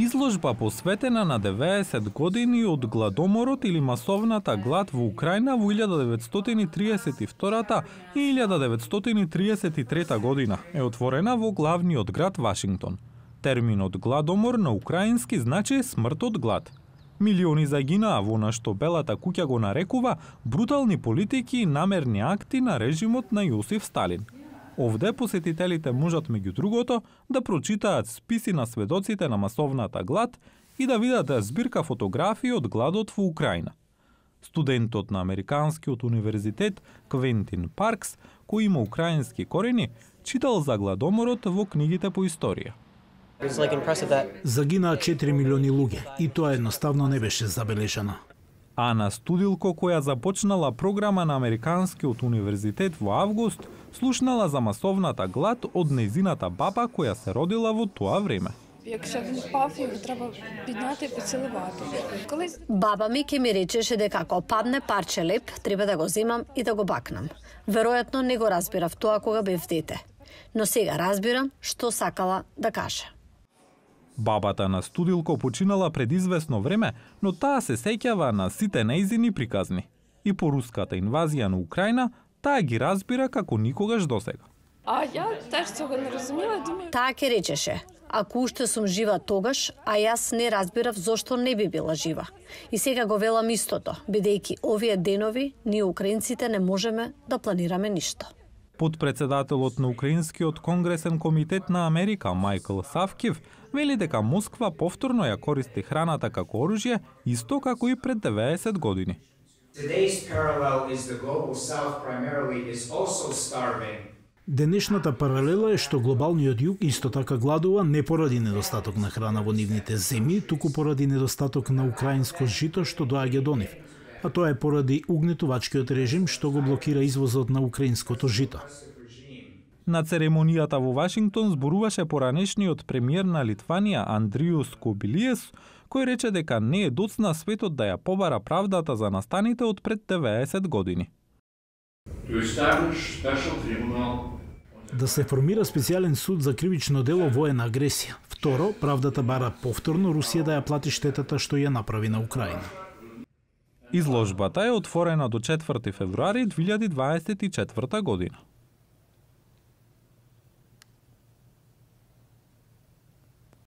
Изложба посветена на 90 години од гладоморот или масовната глад во Украина во 1932 и 1933 година е отворена во главниот град Вашингтон. Терминот гладомор на украински значи смрт од глад. Милиони загинаа во на што Белата куќа го нарекува брутални политики и намерни акти на режимот на Јосиф Сталин. Овде посетителите можат меѓу другото да прочитаат списи на сведоците на масовната глад и да видат збирка фотографии од гладот во Украина. Студентот на Американскиот универзитет Квентин Паркс, кој има украински корени, читал за гладоморот во книгите по историја. Загинаа 4 милиони луѓе и тоа едноставно не беше забележано. Ана Студилко, која започнала програма на Американскиот универзитет во август, слушнала за масовната глад од нејзината баба која се родила во тоа време. Баба ми ќе ми речеше дека ако падне парче леп, треба да го земам и да го бакнам. Веројатно не го разбирав тоа кога бев дете, но сега разбирам што сакала да каже. Бабата на Студилко починала пред известно време, но таа се сеќава на сите нејзини приказни. И по руската инвазија на Украина, таа ги разбира како никогаш досега. Таа ќе речеше, ако уште сум жива тогаш, а јас не разбирав зошто не би била жива. И сега го велам истото, бидејќи овие денови ние украинците не можеме да планираме ништо. Подпредседателот на Украинскиот конгресен комитет на Америка Мајкл Савкив вели дека Москва повторно ја користи храната како оружје, исто како и пред 90 години. Денешната паралела е што глобалниот југ исто така гладува не поради недостаток на храна во нивните земји, туку поради недостаток на украинско жито што доаѓа до нив. А тоа е поради угнетувачкиот режим што го блокира извозот на украинското жито. На церемонијата во Вашингтон зборуваше поранешниот премиер на Литванија Андриус Кобилиес, кој рече дека не е доцна светот да ја побара правдата за настаните од пред 90 години. Да се формира специјален суд за кривично дело воена агресија. Второ, правдата бара повторно Русија да ја плати штетата што ја направи на Украина. Изложбата е отворена до 4 февруари 2024 година.